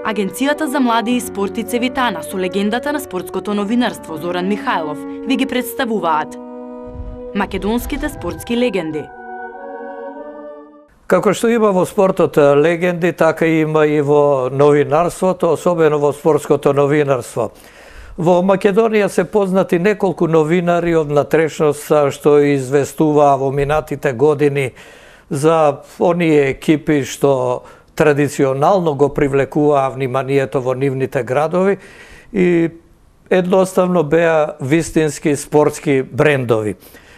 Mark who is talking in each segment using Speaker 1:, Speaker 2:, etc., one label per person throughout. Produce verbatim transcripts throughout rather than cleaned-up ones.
Speaker 1: Агенцијата за млади и спорт и Цевитана со легендата на спортското новинарство Зоран Михајлов ви ги представуваат македонските спортски легенди.
Speaker 2: Како што има во спортот легенди, така има и во новинарството, особено во спортското новинарство. Во Македонија се познати неколку новинари од натрешност што известуваа во минатите години за оние екипи што традиционално го привлекуваа вниманието во нивните градови и едноставно беа вистински спортски брендови.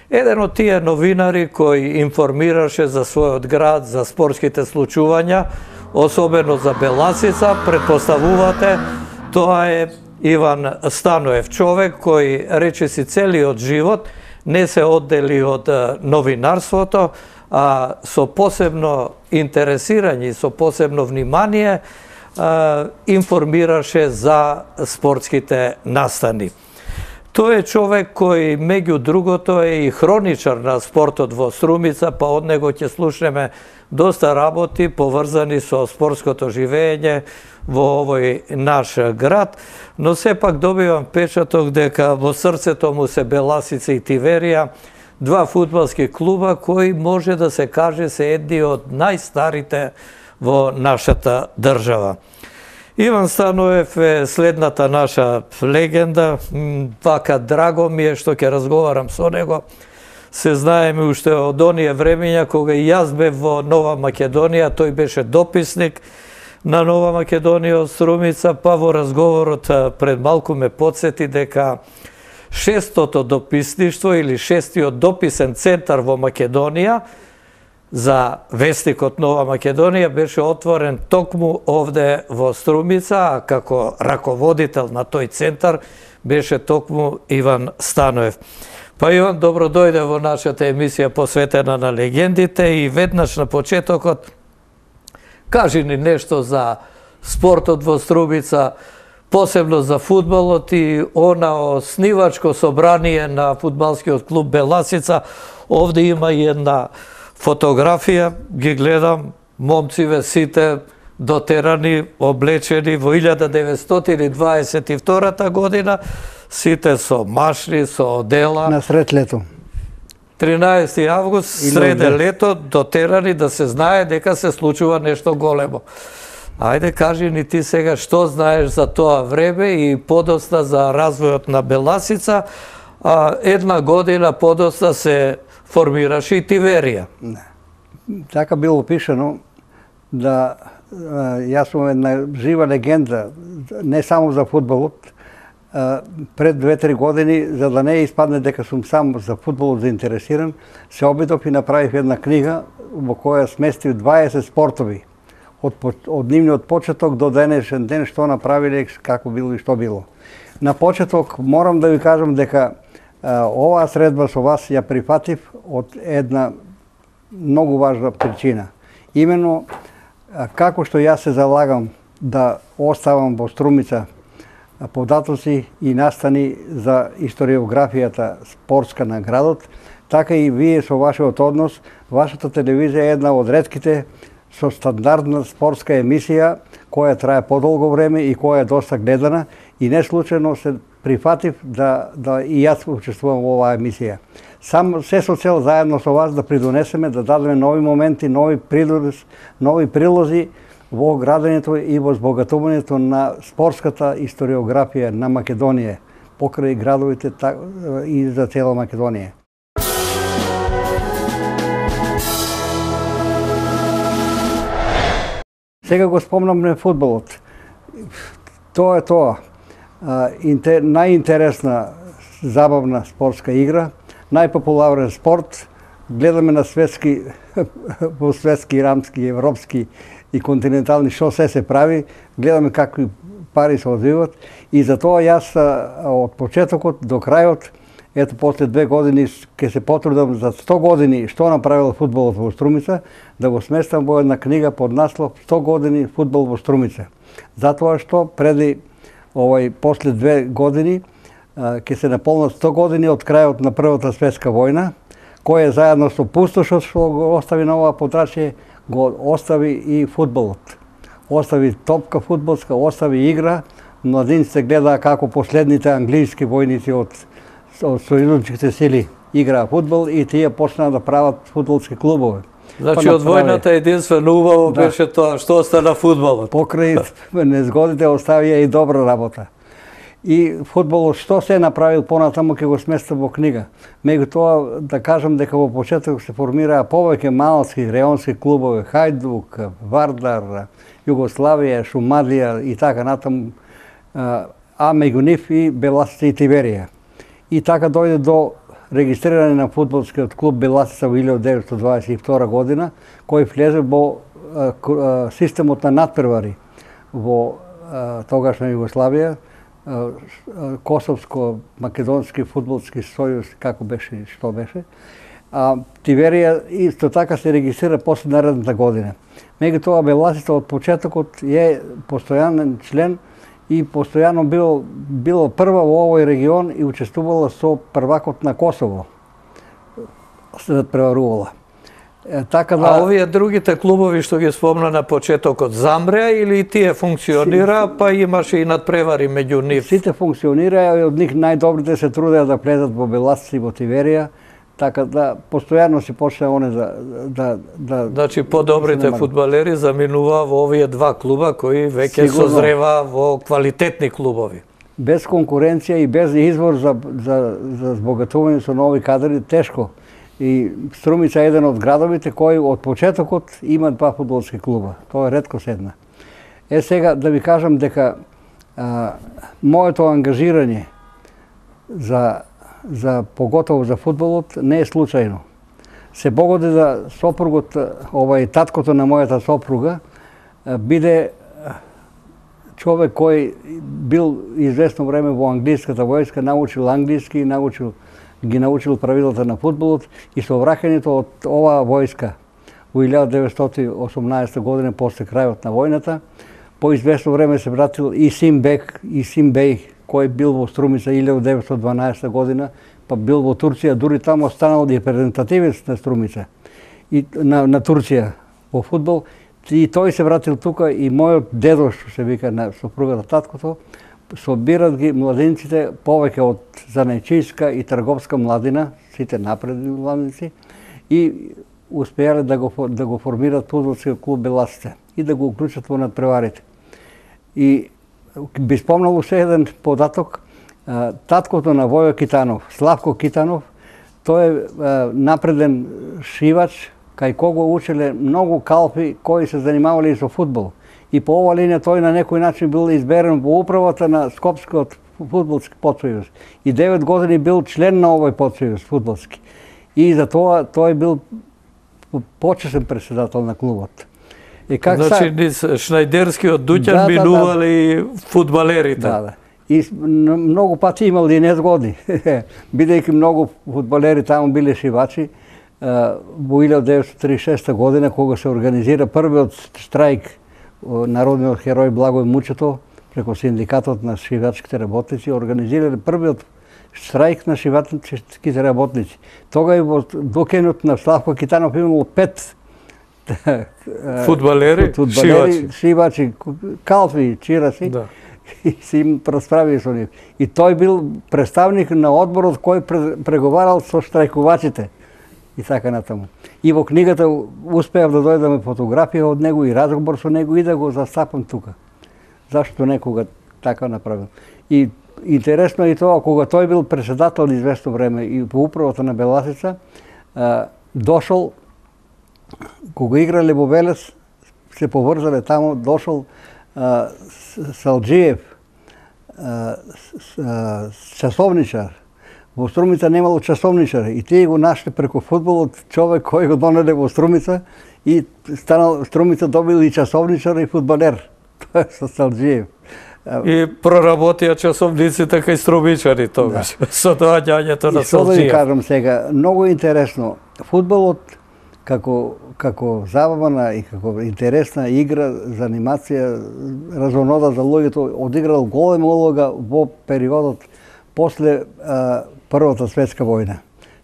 Speaker 2: Еден од тие новинари кој информираше за својот град, за спортските случувања, особено за Беласица, предпоставувате, тоа е Иван Станоев, човек кој речиси целиот живот не се оддели од новинарството, а со посебно интересирање, со посебно внимание информираше за спортските настани. Тој е човек кој, меѓу другото, е и хроничар на спортот во Струмица, па од него ќе слушнеме доста работи поврзани со спортското живење во овој наш град, но сепак добивам печаток дека во срцето му се Беласица и Тиверија, два фудбалски клуба кои може да се каже се едни од најстарите во нашата држава. Иван Станоев е следната наша легенда, вака драго ми е што ќе разговарам со него. Се знаеме уште од оние времења кога и јас бев во Нова Македонија, тој беше дописник на Нова Македонија од Струмица, па во разговорот пред малку ме подсети дека шестото дописништво или шестиот дописен центар во Македонија за вестникот Нова Македонија беше отворен токму овде во Струмица, а како раководител на тој центар беше токму Иван Станоев. Па Иван, добро дојде во нашата емисија посветена на легендите и веднаш на почетокот кажи ни нешто за спортот во Струмица, посебно за фудбалот и она оснивачко собрание на фудбалскиот клуб Беласица. Овде има и една фотографија, ги гледам, момциве сите дотерани, облечени во илјада деветстотини дваесет и втора година, сите со машни, со одела.
Speaker 3: На сред лето.
Speaker 2: тринаесети август, среде лето, дотерани да се знае дека се случува нешто големо. Ајде, кажи ни ти сега што знаеш за тоа време и подоста за развојот на Беласица, а една година подоста се формираше и Тиверија.
Speaker 3: Не. Така било пишано да јас сум една жива легенда, не само за фудбалот. Пред две-три години, за да не испадне дека сум само за фудбалот заинтересиран, се обидов и направив една книга во која сместив дваесет спортови. Од, од нивниот почеток до денешен ден, што направиле, како било и што било. На почеток морам да ви кажам дека а, оваа средба со вас ја прифатив од една многу важна причина. Имено, а, како што јас се залагам да оставам во Струмица податоци и настани за историографијата спортска на градот, така и вие со вашиот однос, вашата телевизија е една од ретките со стандардна спортска емисија која трае подолго време и која е доста гледана и не случајно се прифатив да, да и јас учествувам во оваа емисија. Сам се со цел заедно со вас да придонесеме, да дадеме нови моменти, нови прилози, нови прилози во градењето и во збогатувањето на спортската историографија на Македонија, покрај градовите и за цела Македонија. Сега го спомнам фудбалот. Тоа е тоа. Најинтересна, забавна спортска игра, најпопуларен спорт. Гледаме на светски, во светски, рамски, европски и континентални што се се прави, гледаме какви пари се одвиват и затоа јас од почетокот до крајот, ето после две години ќе се потрудам за сто години што направил фудбалот во Струмица, да го сместам во една книга под наслов сто години фудбал во Струмица. Затоа што преди овој после две години ќе се наполнат сто години од крајот на Првата светска војна, која заедно со пустошот што го остави на оваа подрачје, го остави и фудбалот, остави топка фудбалска, остави игра, младинците гледаа како последните англиски војници од, од сојузничките сили играа фудбал и тие почнаа да прават фудбалски клубови.
Speaker 2: Значи па од војната единствено убаво да. беше тоа што остана фудбалот.
Speaker 3: Покрај незгодите оставија и добра работа. И фудбалот што се направил понатаму ќе го сместа во книга. Меѓутоа да кажам дека во почеток се формираа повеќе малски реонски клубови, Хајдук, Вардар, Југославија, Шумадија и така натаму, а меѓу нив и Беласица и Тиверија. И така дојде до регистрирање на фудбалскиот клуб Беласица во илјадесет деветстотини дваесет и втора година, кој влезе во системот на надпревари во тогашна Југославија, Косовско-македонски фудбалски сојуз, како беше, што беше. А Тиверија исто така се регистрира после наредната година. Меѓутоа Беласица од почетокот е постојанен член и постојано било, било прва во овој регион и учествувала со првакот на Косово. Се надпреварувала. Е, така да...
Speaker 2: А овие другите клубови што ги спомна на почетокот замреа или тие функционира, си, па имаше и надпревари меѓу нив?
Speaker 3: Сите функционираа и од нив најдобрите се трудеа да влезат во Беласица и во Тиверија, така да постојано си почна оне да... да, да
Speaker 2: значи подобрите фудбалери заминуваа во овие два клуба кои веќе созреваа во квалитетни клубови.
Speaker 3: Без конкуренција и без извор за, за, за збогатување со нови кадри, тешко. И Струмица е еден од градовите кои од почетокот има два фудбалски клуба. Тоа е ретко седна. Е сега да ви кажам дека а, моето ангажирање за, за поготово за фудбалот не е случајно. Се погоди да сопругот, овај таткото на мојата сопруга, биде човек кој бил известно време во англиската војска, научил англиски, научил ги научил правилата на фудбалот и со враќањето од оваа војска во илјадесет деветстотини и осумнаесета година после крајот на војната, по известно време се вратил и Симбек и Симбеј, кој бил во Струмица илјадесет деветстотини и дванаесета година, па бил во Турција, дури таму останал репрезентативец на Струмица и на, на Турција во фудбал. И тој се вратил тука и мојот дедо, што се вика на сопругата таткото, собират ги младинците повеќе од занајчијска и трговска младина, сите напредни младинци, и успеале да го, да го формират фудбалскиот клуб Беласица и да го уклучат во надпреварите. И би спомнал уште еден податок, таткото на Војо Китанов, Славко Китанов, тој е напреден шивач, кај кого учеле многу калпи кои се занимавале и со фудбал. И по ова линија тој на некој начин бил изберен во управата на Скопскиот фудбалски подсојуз. И девет години бил член на овој подсојуз фудбалски. И за тоа тој бил почесен председател на клубот. И как
Speaker 2: значи низ Шнајдерскиот дуќан да, минували да, да. фудбалерите. Да, да.
Speaker 3: И многу пати имал и незгоди. Бидејќи многу фудбалери таму биле шивачи, во илјадесет деветстотини триесет и шеста година кога се организира првиот штрајк народниот херој Благој Мучето преко синдикатот на шивачките работници организирале првиот штрајк на шивачките работници. Тогаш во докенот на Славко Китанов имало пет
Speaker 2: фудбалери,
Speaker 3: фудбалери шивачи, калфи, чираси, да. И се им расправи со нив. И тој бил представник на одборот кој преговарал со штрајкувачите. И така натаму. И во книгата успеав да дојдеме фотографија од него и разговор со него и да го застапам тука. Зашто некога така направил. И интересно е и тоа, кога тој бил председател известно време и по управата на Беласица, дошол, кога играле во Велес, се поврзале таму, дошол Салџиев, часовничар. Во Струмица немало часовничари и тие го нашли преку фудбалот човек кој го донеле во Струмица и станал Струмица добил и часовничар и фудбалер. Тоа е со Салџиев.
Speaker 2: И проработија часовниците кај струмичари тогаш, да. Со доаѓањето на Салџиев. И што да ви
Speaker 3: кажам сега, многу интересно. Фудбалот како како забавна и како интересна игра за анимација, разнонода за луѓето, одиграл голема улога во периодот после а, Првата светска војна.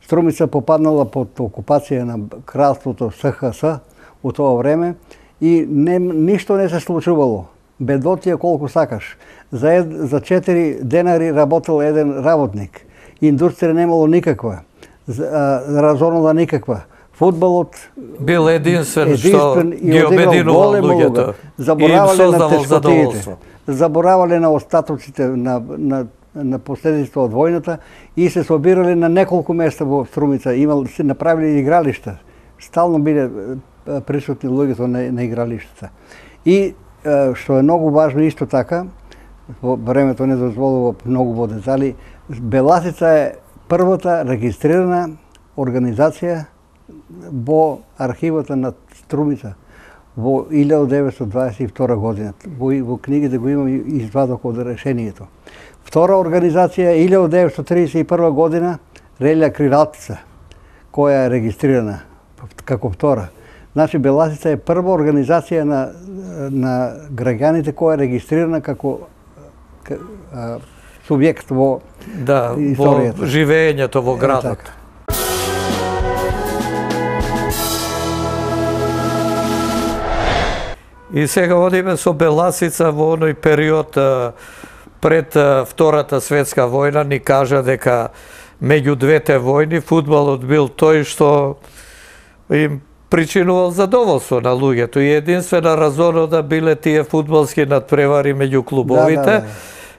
Speaker 3: Струмица попаднала под окупација на кралството С Х С во тоа време и не, ништо не се случувало. Бедотија колку сакаш. За, ед, за четири денари работел еден работник. Индустрија немало никаква. Разонуда никаква. Фудбалот
Speaker 2: бил единствен, што ги обединувал луѓето и им создавал задоволство.
Speaker 3: Заборавале на остатоците на, на, на последиците од војната и се собирале на неколку места во Струмица. Имал, се направили игралишта. Стално биле присутни луѓето на, на игралиштата. И што е многу важно исто така, во времето не дозволува многу во детали, Беласица е првата регистрирана организација во архивата на Струмица во илјада деветстотини дваесет и втора година. Во, во книгите го имам извадок од решението. Втора организација е илјада деветстотини тридесет и прва година Релја Крилатица, која е регистрирана како втора. Значи, Беласица е прва организација на, на граѓаните која е регистрирана како а, субјект во
Speaker 2: да, историјата. Во живеењето во градот. Е, и сега одиме со Беласица во оној период пред Втората светска војна. Ни кажа дека меѓу двете војни фудбалот бил тој што им причинувал задоволство на луѓето и единствена разонода биле тие фудбалски надпревари меѓу клубовите. Да, да,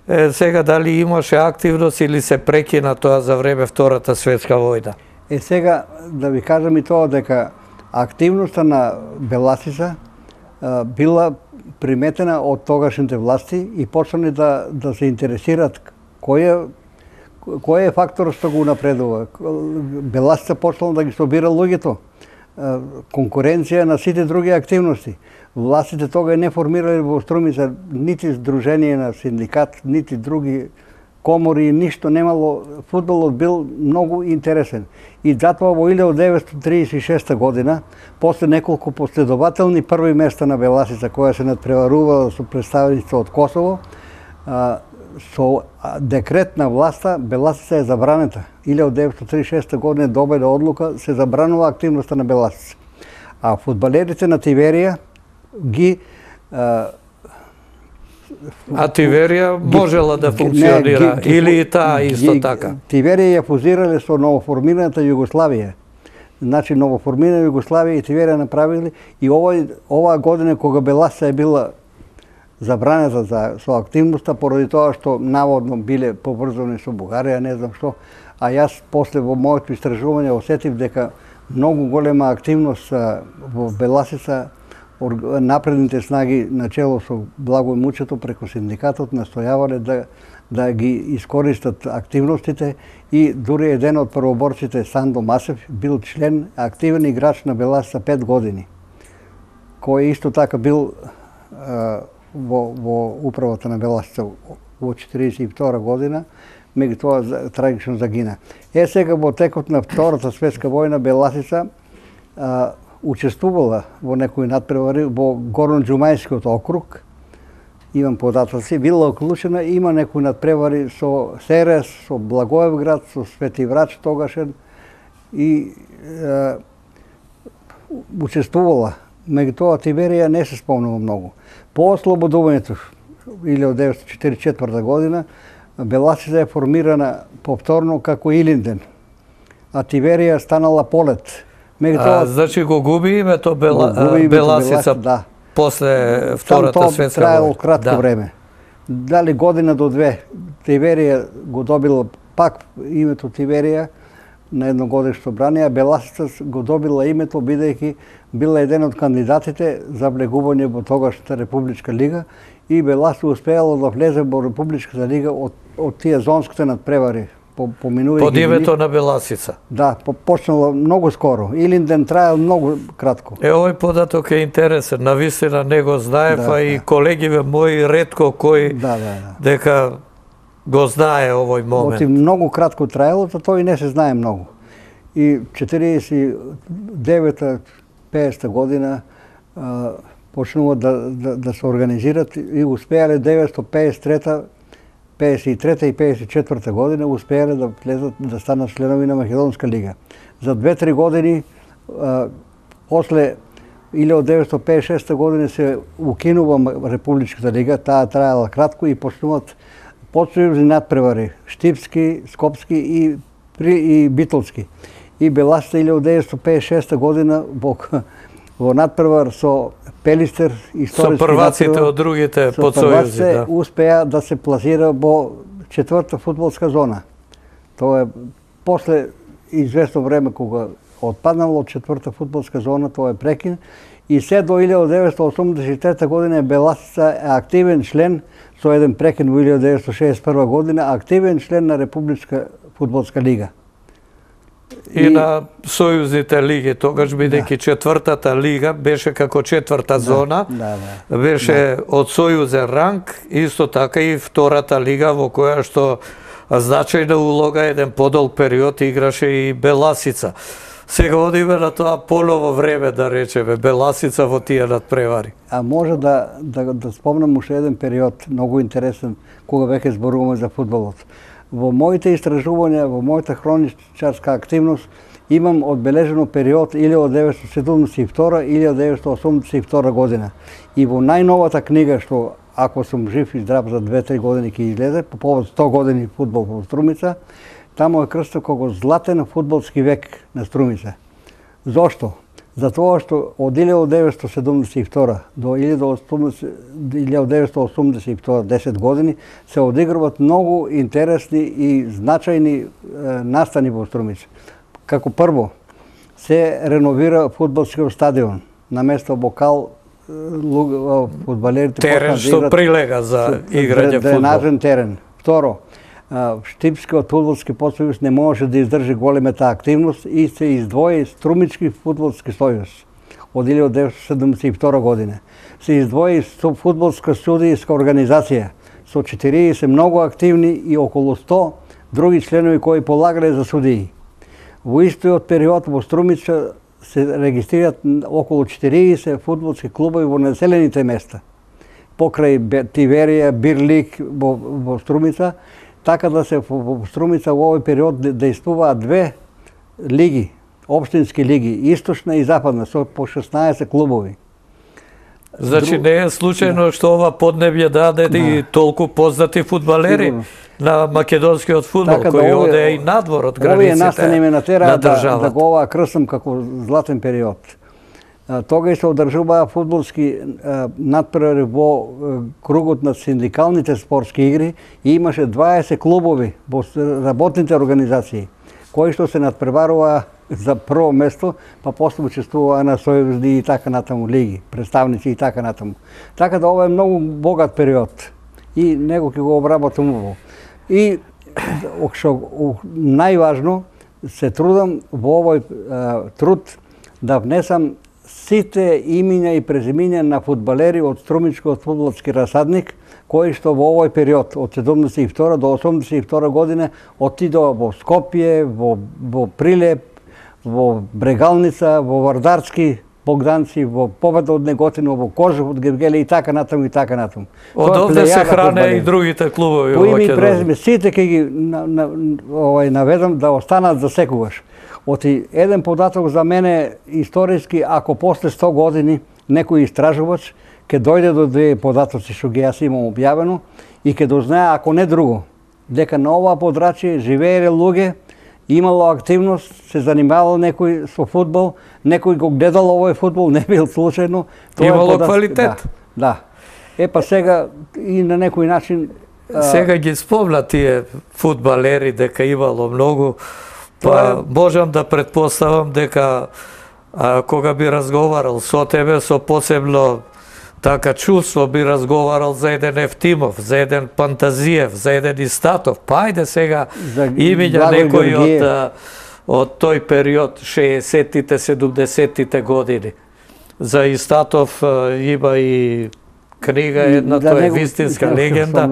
Speaker 2: да. Е, сега дали имаше активност или се прекина тоа за време Втората светска војна?
Speaker 3: Е, сега да ви кажам и тоа дека активноста на Беласица а, била приметена од тогашните власти и почнале да, да се интересираат кој е кој е фактор што го напредува. Беласица почнала да ги собира луѓето, конкуренција на сите други активности. Властите тога не формирале во Струмица нити здружение на синдикат, нити други комори, ништо немало. Фудбалот бил многу интересен. И затоа во илјада деветстотини тридесет и шеста година, после неколку последователни први места на Беласица, која се надпреварувала со представници од Косово, со декрет на власта Беласица е забранета. илјада деветстотини тридесет и шеста година добила одлука, се забранува активноста на Беласица. А фудбалерите на Тиверија ги а,
Speaker 2: а Тиверија можела да функционира не, ги, или и таа исто ги, така?
Speaker 3: Тиверија ја фузирале со новоформираната Југославија. Значи новоформирана Југославија и Тиверија направили и овој оваа година кога Беласица е била забранета за со активноста поради тоа што наводно биле поврзани со Бугарија, не знам што, а јас после во моето истражување осетив дека многу голема активност во Беласица напредните снаги начело со Благој Мучето преку синдикатот настојавале да да ги искористат активностите и дури еден од првоборците Сандо Масев бил член, активен играч на Беласица пет години, кој исто така бил а, во, во управата на Беласица во четиридесет и втора година, меѓутоа трагично загина. Е, сега во текот на Втората светска војна Беласица а, учествувала во некои надпревари во Горно-Џумајскиот округ, имам податоци, била уклучена, има некои надпревари со Серес, со Благоевград, со Свети Врач тогашен и е, учествувала. Меѓутоа Тиверија не се спомнува многу. По ослободувањето илјада деветстотини четиридесет и четврта година Беласица е формирана повторно како Илинден, а Тиверија станала Полет.
Speaker 2: Меѓутоа, а, значи го губи името Бела, го губи името Беласица, Беласица да. После Втората светска војна. Траело кратко да. време. Дали година до две. Тиверија го добила пак името Тиверија на едногодишно собрание, а Беласица го добила името бидејќи била еден од кандидатите за влегување во тогашната Републичка лига и Беласица успеала да влезе во Републичката лига од, од тие зонските надпревари. По, Под името на Беласица.
Speaker 3: Да, по, почнало многу скоро. Илинден траел многу кратко.
Speaker 2: Е, овој податок е интересен. Навистина не го знаев, да, а и да. колегиве мои ретко кои да, да, да. дека го знае овој момент.
Speaker 3: Оти многу кратко траело, то тој не се знае многу. И четиридесет и девета петдесета година а, почнува да, да, да се организират и успеале деветстотини педесет и трета педесет и трета и педесет и четврта година успеале да влезат да станат членови на Македонска лига. За две-три години а, после илјадат деветстотини педесет и шеста година се укинува Републичката лига, таа траела кратко и почнуваат подсојузни надпревари, Штипски, Скопски и, и Битолски. И Беласица илјадат деветстотини педесет и шеста година во, во надпревар со Пелистер, историски
Speaker 2: со прваците од другите подсојузи, да.
Speaker 3: Успеа да се пласира во четврта фудбалска зона. Тоа е после известно време кога отпаднало од четврта фудбалска зона, тоа е прекин. И се до илјадат деветстотини осумдесет и трета година Беласица е активен член, со еден прекин во илјадат деветстотини шеесет и прва година, активен член на Републичка фудбалска лига.
Speaker 2: И, и на сојузните лиги, тогаш бидејќи да. Четвртата лига беше како четврта да, зона,
Speaker 3: да, да,
Speaker 2: беше да. Од сојузен ранг, исто така и втората лига во која што значајна улога еден подолг период играше и Беласица. Сега одиме на тоа поново време, да речеме, Беласица во тие надпревари.
Speaker 3: А може да, да, да спомнам уште еден период, многу интересен, кога веќе зборуваме за фудбалот. Во моите истражувања, во мојата хроничарска активност, имам одбележено период илјадат деветстотини седумдесет и втора - илјадат деветстотини осумдесет и втора година. И во најновата книга, што ако сум жив и здрав за две-три години ќе излезе, по повод сто години фудбал во Струмица, таму е крстен како златен фудбалски век на Струмица. Зошто? Затоа што од илјадат деветстотини седумдесет и втора до илјадат деветстотини осумдесет и втора, десет години, се одигруваат многу интересни и значајни е, настани во Струмица. Како прво, се реновира фудбалскиот стадион, на место Бокал фудбалерите
Speaker 2: терен што да прилега за играње фудбал.
Speaker 3: Дренажен терен. Второ, Штипскиот фудбалски подсојуз не можеше да издржи големата активност и се издвои Струмички фудбалски сојуз од илјадат деветстотини седумдесет и втора година. Се издвои фудбалска судијска организација со четириесет многу активни и околу сто други членови кои полагале за судии. Во истојот период во Струмица се регистрираат околу четириесет фудбалски клубови во населените места. Покрај Тиверија, Бирлик во, во Струмица, така да се во Струмица во овој период дејствуваат две лиги, општински лиги, источна и западна, со по шеснаесет клубови.
Speaker 2: Значи не е случајно што ова поднебје даде да. И толку познати фудбалери Сигурно. На македонскиот фудбал, така кој да оде и надвор од границите. Овие настани ме натера да, да го ова крстам како златен период. Тогаш се одржуваа фудбалски надпревари во кругот на синдикалните спортски игри и имаше дваесет клубови во работните организации, кои што се надпреваруваа за прво место, па после учествуваа на сојузни и така натаму лиги, представници и така натаму. Така да ова е многу богат период и него ќе го обработам ово. И што најважно се трудам во овој а, труд да внесам сите имиња и презимиња на фудбалери од Струмичкиот фудбалски расадник, кои што во овој период од седумдесет и втора до осумдесет и втора година отидоа во Скопје, во, во Прилеп, во Брегалница, во Вардарски, Богданци, во Победа од Неготино, во Кожев од Гевгеле и така натаму и така натаму. Од овде се хране и другите клубови во Македонија. По име и презиме, сите ќе ги на, на, овај, наведам да останат за секогаш. Оти еден податок за мене историски, ако после сто години некој истражувач ќе дојде до две податоци што ги јас имам објавено и ќе дознае, ако не друго, дека на ова подрачје живееле луѓе, имало активност, се занимавал некој со фудбал, некој го гледал овој фудбал, не бил случајно. Имало податок, квалитет.
Speaker 3: Да, да. Е, па сега и на некој начин...
Speaker 2: Сега ги спомна тие фудбалери дека имало многу, па можам да предпоставам дека а, кога би разговарал со тебе, со посебно така чувство би разговарал за еден Ефтимов, за еден Пантазиев, за еден Истатов. Па ајде сега имиња некој од, од тој период, шеесеттите, седумдесеттите години. За Истатов има и книга една, да, тоа е вистинска легенда.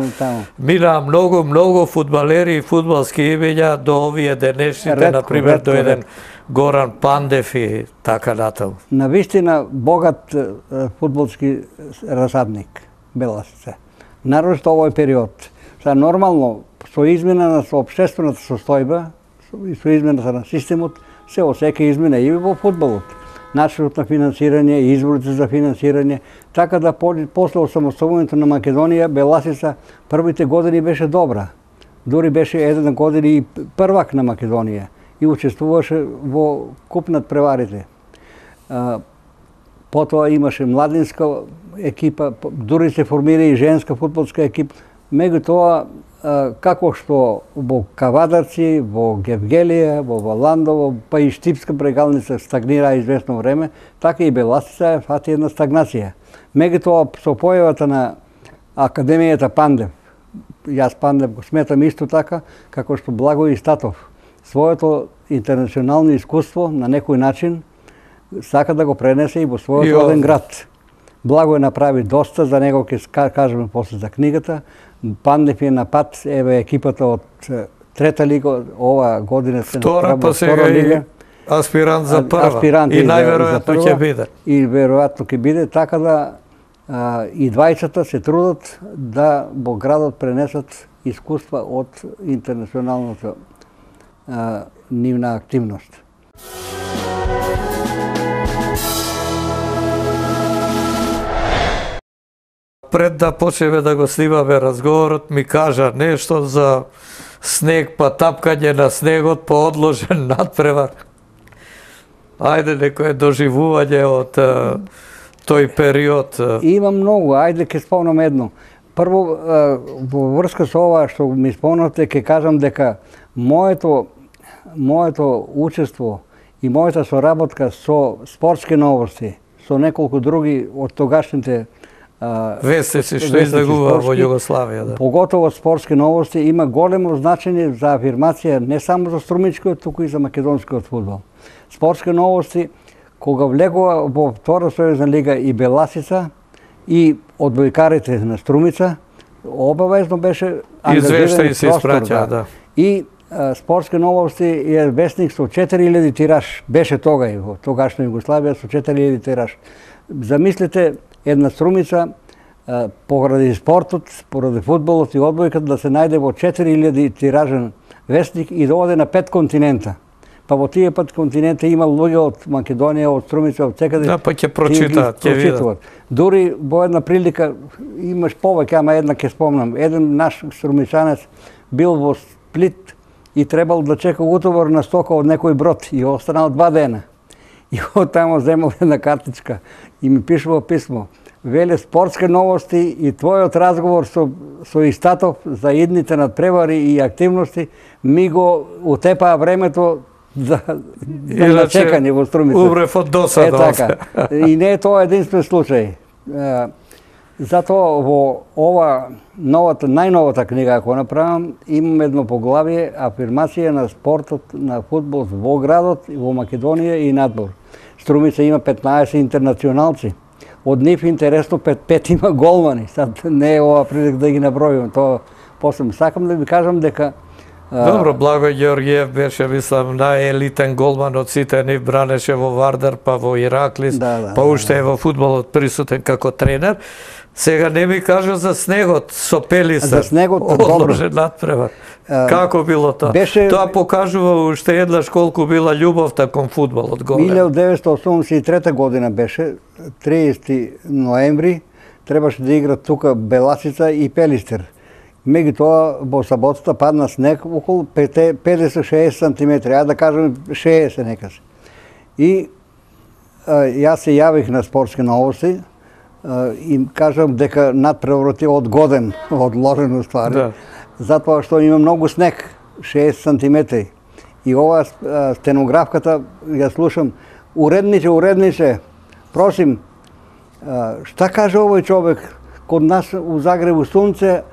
Speaker 2: Мина многу, многу фудбалери и фудбалски имиња до овие денешните, например, до еден Горан Пандев и така натаму.
Speaker 3: На вистина богат фудбалски расадник Беласица. Нарочно овој период. Са нормално со измена на соопштествената состојба и со измената на системот се осеќа измена и во фудбалот. начинот на финансирање, изворите за финансирање, така да после осамостојувањето на Македонија, Беласица првите години беше добра. Дури беше еден година и првак на Македонија и учествуваше во куп над преварите. Потоа имаше младинска екипа, дури се формира и женска фудбалска екипа. Меѓутоа, како што во Кавадарци, во Гевгелија, во Валандово, па и Штипска прегалница стагнира известно време, така и Беласица фати една стагнација. Меѓутоа, со појавата на Академијата Пандев, јас Пандев го сметам исто така, како што Благој Статов, своето интернационално искуство на некој начин сака да го пренесе и во својот роден град. Благој направи доста, за него ќе кажеме после за книгата. Пандев е на пат, еве екипата од трета лига, ова година се
Speaker 2: втора, па сега и аспирант за прва.
Speaker 3: Аспирант
Speaker 2: и најверојатно ќе биде.
Speaker 3: И веројатно ќе биде, така да а, и двајцата се трудат да во градот пренесат искуства од интернационалната а, нивна активност.
Speaker 2: Пред да почнеме да го снимаме разговорот, ми кажа нешто за снег, па тапкање на снегот, па одложен надпревар. Ајде, некое доживување од а, тој период.
Speaker 3: Има многу, ајде ќе спомнам едно. Прво, а, во врска со ова што ми спомнавте, ќе кажам дека моето, моето учество и мојата соработка со спортски новости, со неколку други од тогашните
Speaker 2: вестници што излегува во Југославија, да.
Speaker 3: Поготово спортски новости има големо значење за афирмација не само за струмичкиот, туку и за македонскиот фудбал. Спортски новости кога влегува во втора сојузна лига и Беласица и одбојкарите на Струмица, обавезно беше ангажиран
Speaker 2: и се испраќа, да.
Speaker 3: И а, спортски новости е вестник со четири илјади тираж, беше тогај во тогашна Југославија со четири илјади тираж. Замислете една Струмица поради спортот, поради фудбалот и одбојката да се најде во четири илјади тиражен вестник и да оде на пет континента. Па во тие пет континента има луѓе од Македонија, од Струмица, од секаде.
Speaker 2: Да, па ќе прочитаат, ќе видат.
Speaker 3: Дури во една прилика имаш повеќе, ама една ќе спомнам. Еден наш струмичанец бил во Сплит и требал да чека утовар на стока од некој брод и останал два дена. И од тамо земал една картичка и ми пишува писмо. Веле спортски новости и твојот разговор со, со Истатов за идните надпревари и активности ми го утепаа времето за, за на чекање во Струмица.
Speaker 2: Умрев од досада.
Speaker 3: Е така. И не е тоа единствен случај. Затоа во ова новата, најновата книга ако направам, имам едно поглавие афирмација на спортот на фудбал во градот, во Македонија и надвор. Струмица има петнаесет интернационалци. Од нив интересно пет, пет има голмани. Сад не е ова прилик да ги набројувам. Тоа после сакам да ви кажам дека
Speaker 2: Добро, Благој Ѓорѓиев беше, мислам, најелитен голман од сите, нив бранеше во Вардар, па во Ираклис,
Speaker 3: да, да,
Speaker 2: па уште
Speaker 3: да,
Speaker 2: е во фудбалот присутен како тренер. Сега не ми кажа за снегот со Пелиса.
Speaker 3: За снегот,
Speaker 2: одложен надпревар. Како било тоа?
Speaker 3: Беше...
Speaker 2: Тоа покажува уште еднаш колку била љубовта кон фудбалот голем.
Speaker 3: илјадум деветстотини осумдесет и трета година беше, триесети ноември, требаше да играт тука Беласица и Пелистер. Меѓутоа во саботата падна снег околу педесет шеесет сантиметри, а да кажем шеесет некаси. И а, јас се јавих на спортски новости а, и кажам дека надпреварот е одгоден, одложен уствари, да. Затоа што има многу снег, шеесет сантиметри. И ова а, стенографката ја слушам, уредниче, уредниче, просим, а, шта каже овој човек, код нас у Загребу сунце,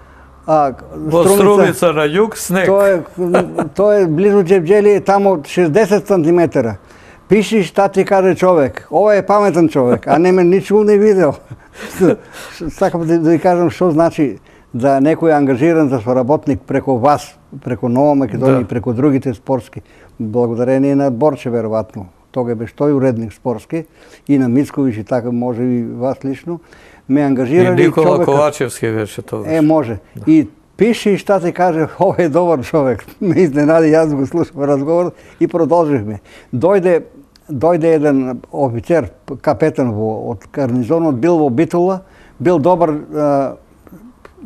Speaker 3: а
Speaker 2: во Струмица на југ снег.
Speaker 3: Тоа е, тоа е близу Џевџели, тамо шесдесет сантиметра. Пиши шта ти каже човек. Ова е паметен човек, а не ме ничу не видел. Сакам да, да ви кажам што значи да некој е ангажиран за соработник преку вас, преку Нова Македонија и да. Преку другите спортски. Благодарение на Борче, веројатно. Тога беше тој уредник спортски и на Мицковиќ и така може и вас лично. Ме ангажирали
Speaker 2: и Никола
Speaker 3: човека...
Speaker 2: Ковачевски беше тоа.
Speaker 3: Е, може. Да. И пиши шта ти каже, ова е добар човек. Ме изненади, јас го слушам разговор и продолживме. Дојде дојде еден офицер, капетен во, од гарнизонот, бил во Битола, бил добар а,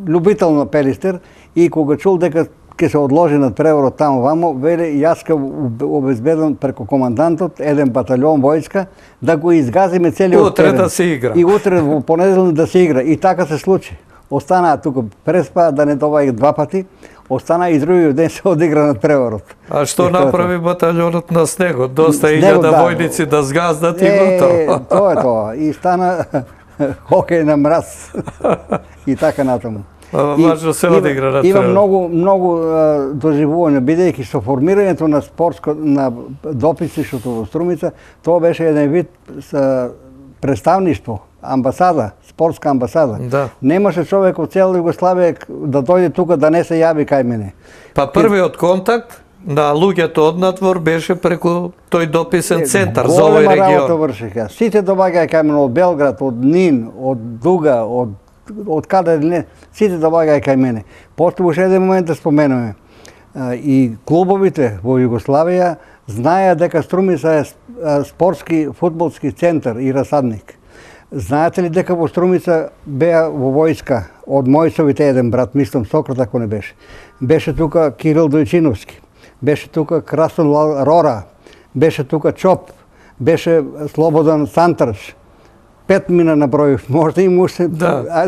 Speaker 3: любител на Пелистер и кога чул дека ќе се одложи над преворот таму вамо, веле јас ке обезбедам преку командантот еден батальон војска да го изгазиме целиот
Speaker 2: утре терен. Да се игра.
Speaker 3: И утре во понеделник да се игра. И така се случи. Останаа тука преспа да не добаја два пати. Остана и другиот ден се одигра над преворот.
Speaker 2: А што направи батальонот на снегот? Доста илјада да, војници да згаздат и готово.
Speaker 3: Тоа е тоа. И стана хокеј на мраз. И така натаму.
Speaker 2: Важно се одигра на
Speaker 3: Има многу многу доживување, бидејќи со формирањето на спортско на дописништвото во Струмица, тоа беше еден вид представништво, амбасада, спортска амбасада.
Speaker 2: Да.
Speaker 3: Немаше човек од цела Југославија да дојде тука да не се јави кај мене.
Speaker 2: Па првиот контакт на луѓето од надвор беше преку тој дописен центар за овој регион.
Speaker 3: Голема работа вршиха. Сите доаѓаја кај мене од Белград, од Нин, од Дуга, од од каде не, сите доаѓаја кај мене. После уште еден момент да споменуваме. И клубовите во Југославија знаеа дека Струмица е спортски фудбалски центар и расадник. Знаете ли дека во Струмица беа во војска од Мојсовите еден брат, мислам Сократ ако не беше. Беше тука Кирил Дојчиновски, беше тука Красон Рора, беше тука Чоп, беше Слободан Сантарш. Пет мина на број, можда и уште
Speaker 2: да.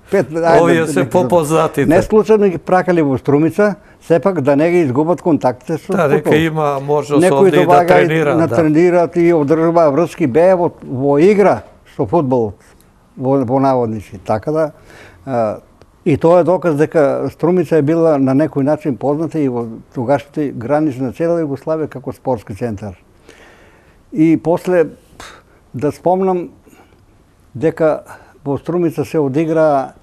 Speaker 2: Пет, овие се попознатите.
Speaker 3: Не случајно ги пракали во Струмица, сепак да не ги изгубат контактите со
Speaker 2: да, дека има можност овде и да тренира.
Speaker 3: Некои да тренираат и одржуваат врски, беа во, во игра со фудбалот, во, во наводници. Така да, а, и тоа е доказ дека Струмица е била на некој начин позната и во тогашните граници на цела Југославија како спортски центар. И после, да спомнам, дека во Струмица се одигра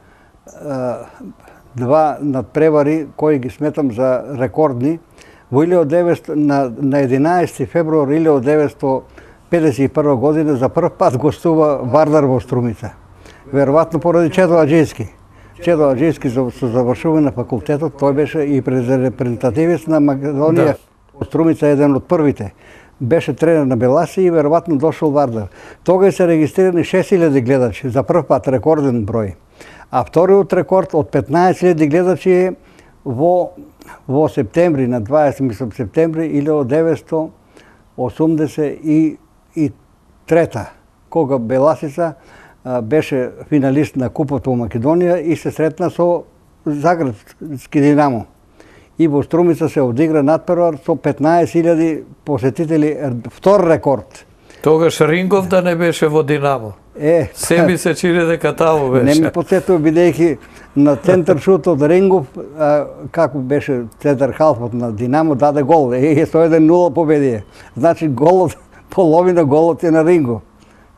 Speaker 3: два надпревари кои ги сметам за рекордни. Во илјадесет и деветстотини на, на единаесети февруар илјадесет и деветстотини педесет и прва година за прв пат гостува Вардар во Струмица. Веројатно поради Чедо Аџијски. Чедо Аџијски со завршување на факултетот, тој беше и репрезентативец на Македонија. Да. Струмица е еден од првите. Беше тренер на Беласи и веројатно дошол Вардар. Тога се регистрирани шест илјади гледачи, за прв пат рекорден број. А вториот рекорд од петнаесет илјади гледачи е во во септември, на дваесети мислам септември илјадесет и деветстотини осумдесет и трета, кога Беласица а, беше финалист на Купот во Македонија и се сретна со Загребски Динамо. И во Струмица се одигра надпревар со петнаесет илјади посетители, втор рекорд.
Speaker 2: Тогаш Рингов да не беше во Динамо.
Speaker 3: Е,
Speaker 2: се ми се чини дека таму беше.
Speaker 3: Не ми потсетува бидејќи на центар шут од Рингов, а, како беше центар халфот на Динамо, даде гол. Е, со еден нула победие. Значи голот, половина голот е на Рингов.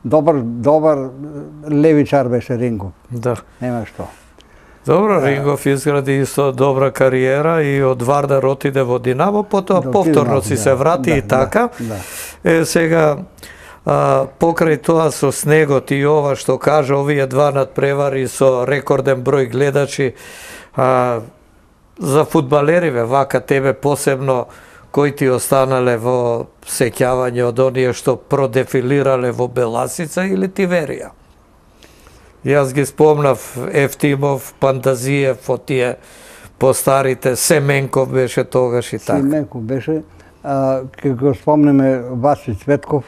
Speaker 3: Добар, добар левичар беше Рингов.
Speaker 2: Да.
Speaker 3: Нема што.
Speaker 2: Добро, Рингов изгради исто добра кариера и од Вардар отиде во Динамо, потоа да, повторно си се врати да, и така. Да, да. Е, сега, а, покрај тоа со снегот и ова што кажа, овие два надпревари со рекорден број гледачи, а, за фудбалериве, вака тебе посебно, кои ти останале во сеќавање од оние што продефилирале во Беласица или Тиверија? Јас ги спомнав Ефтимов, Пандазиев, од тие постарите, Семенков беше тогаш и така.
Speaker 3: Семенков беше, а, ке го спомнеме Васи Цветков,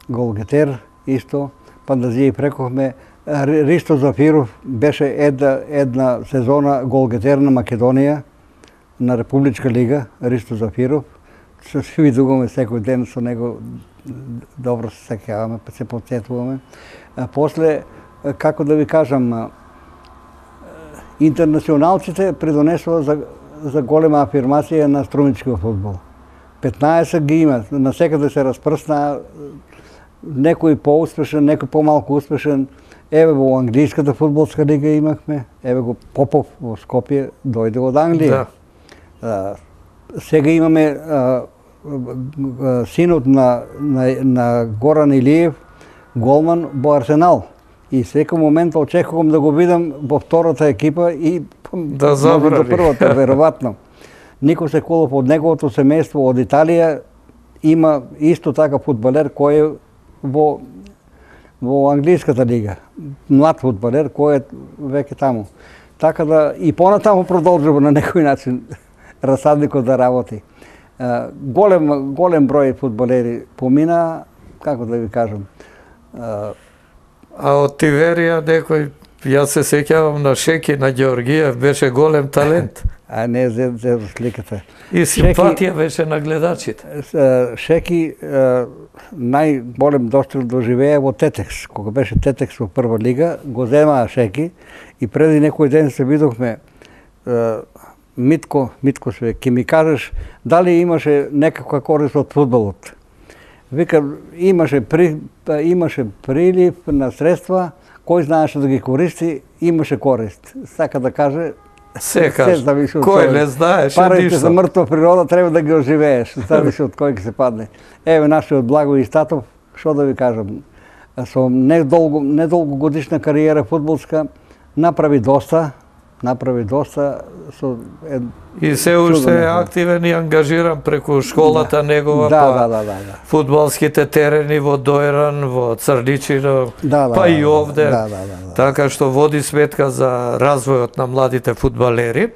Speaker 3: голгетер, исто, Пандазиев рекохме, Ристо Зафиров беше една, една сезона голгетер на Македонија, на Републичка лига, Ристо Зафиров. Се видуваме секој ден со него, добро се сеќаваме, па се потсетуваме. А после, како да ви кажам, интернационалците придонесува за, за голема афирмација на струмичкиот фудбал. петнаесет ги има, насекаде се распрсна, некој поуспешен, некој помалку успешен. Еве во англиската фудбалска лига имахме, еве го Попов во Скопје дојде од Англија. Да. А, сега имаме а, а, синот на, на, на Горан Илиев, голман во Арсенал. И секој момент очекувам да го видам во втората екипа и
Speaker 2: да забрави
Speaker 3: до првата, веројатно. Нико Секулов од неговото семејство од Италија има исто така фудбалер кој е во во англиската лига, млад фудбалер кој е веќе таму. Така да и понатаму продолжува на некој начин расадникот да работи. Голем голем број фудбалери помина, како да ви кажам.
Speaker 2: А од Тиверија некој, јас се сеќавам на Шеки, на Ѓеоргиев, беше голем талент.
Speaker 3: А не за, за сликата.
Speaker 2: И симпатија беше на гледачите.
Speaker 3: Шеки најголем достиг доживеа во Тетекс. Кога беше Тетекс во прва лига, го земаа Шеки и преди некој ден се видовме Митко, Митко се, ќе ми кажеш дали имаше некаква корист од фудбалот. Вика, имаше, при, имаше прилив на средства, кој знаеше да ги користи, имаше корист. Сака да каже,
Speaker 2: се каже, кој не знаеше ништо.
Speaker 3: Парите за мртва природа треба да ги оживееш, зависи од кој ќе се падне. Еве нашиот Благој Статов, што да ви кажам, со недолго, недолго годишна кариера фудбалска, направи доста, направи доста со е,
Speaker 2: и се уште е активен и ангажиран преку школата да. Негова,
Speaker 3: да,
Speaker 2: па
Speaker 3: да, да, да, да.
Speaker 2: фудбалските терени во Дојран, во Црничино,
Speaker 3: да, да,
Speaker 2: па
Speaker 3: да,
Speaker 2: и овде,
Speaker 3: да, да, да, да.
Speaker 2: Така што води сметка за развојот на младите фудбалери.